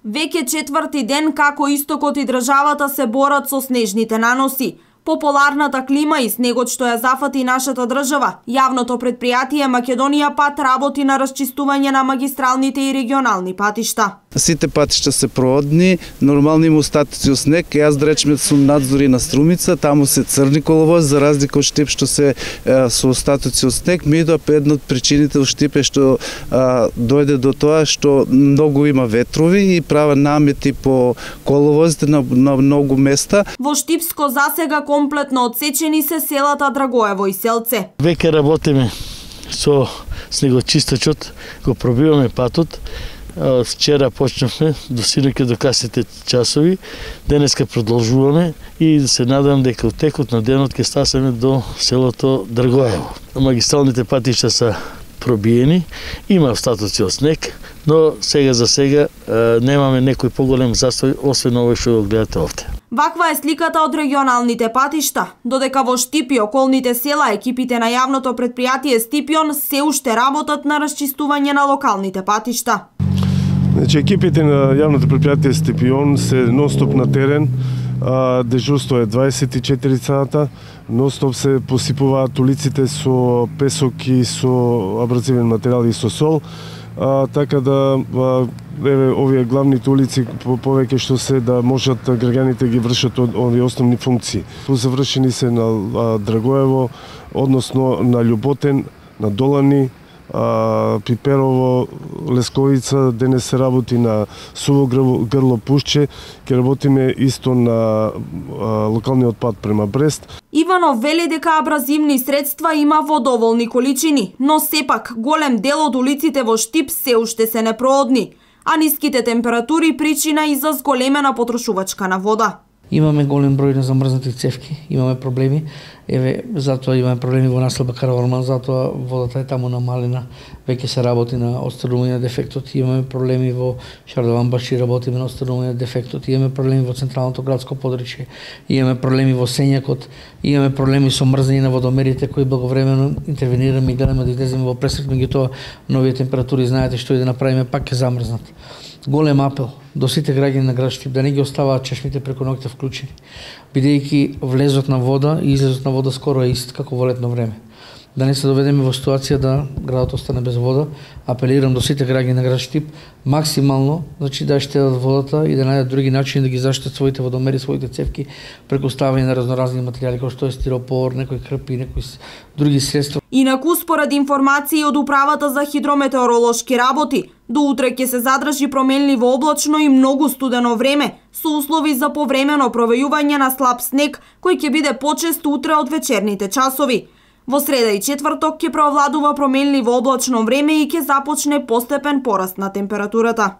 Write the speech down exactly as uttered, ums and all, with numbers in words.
Веќе четврти ден како истокот и државата се борат со снежните наноси. Популарната клима и снегот што ја зафати нашата држава, јавното предпријатие Македонија пат работи на расчистување на магистралните и регионални патишта. Сите патишта се проодни, нормални има остатоци од снег. Јас да речеме сум надзори на Струмица, таму се црни коловози за разлика од Штип што се е, со остатоци од снег. Меѓутоа една од причините од Штип е што а, дојде до тоа што многу има ветрови и прават намети по коловозите на, на многу места. Во Штипско засега комплетно одсечени се селата Драгоево и Селце. Веќе работиме со снегочистачот, го пробиваме патот. Вчера почнавме до синоќа до касните часови, денеска продолжуваме и се надам дека од текот на денот ќе стасаме до селото Драгоево. Магистралните патишта се пробиени, има остатоци од снег, но сега за сега немаме некој поголем застој, освен овој што го гледате овде. Ваква е сликата од регионалните патишта, додека во Штип и околните села екипите на јавното предпријатие Стипион се уште работат на расчистување на локалните патишта. Значи, екипите на јавното предпријатие Стипион се нонстоп на терен, дежурство е дваесет и четири сата, нонстоп се посипуваат улиците со песок и со абразивен материјал и со сол, а, така да а, еве овие главните улици по повеќе што се да можат граѓаните ги вршат овие основни функции. Завршени се на а, Драгоево, односно на Љуботен, на Долани, а, Пиперово, Лесковица, денес се работи на Суво грло Пушче, ќе работиме исто на а, локалниот пат према Брест. Иванов вели дека абразивни средства има во доволни количини, но сепак голем дел од улиците во Штип се уште се непроодни, а ниските температури причина и за зголемена потрошувачка на вода. Имаме голем број на замрзнати цевки, имаме проблеми. Еве, затоа имаме проблеми во населба Караорман, затоа водата е таму намалена. Веќе се работи на отстранување на дефектот. Имаме проблеми во Шардован Баши, работиме на отстранување на дефектот. Имаме проблеми во централното градско подрачје. Имаме проблеми во Сењакот. Имаме проблеми со мрзење на водомерите кои благовремено интервенираме и гледаме да излеземе во пресек, меѓутоа новите температури знаете што и да направиме пак ќе замрзнат. Голем апел до сите граѓани на град Штип да не ги оставаат чешмите преку ноќта вклучени, бидејќи влезот на вода и излезот на вода скоро е ист како во летно време. Да не се доведеме во ситуација да градот остане без вода, апелирам до сите граѓани на град Штип максимално, значи да штедат водата и да најдат други начини да ги заштитат своите водомери, своите цевки преку ставање на разноразни материјали како што е стиропор, некои крпи, некои други средства. Инаку според информации од Управата за хидрометеоролошки работи, до утре ќе се задржи променливо облачно и многу студено време, со услови за повремено провејување на слаб снег, кој ќе биде почест утре од вечерните часови. Во среда и четврток ќе преовладува променливо облачно време и ќе започне постепен пораст на температурата.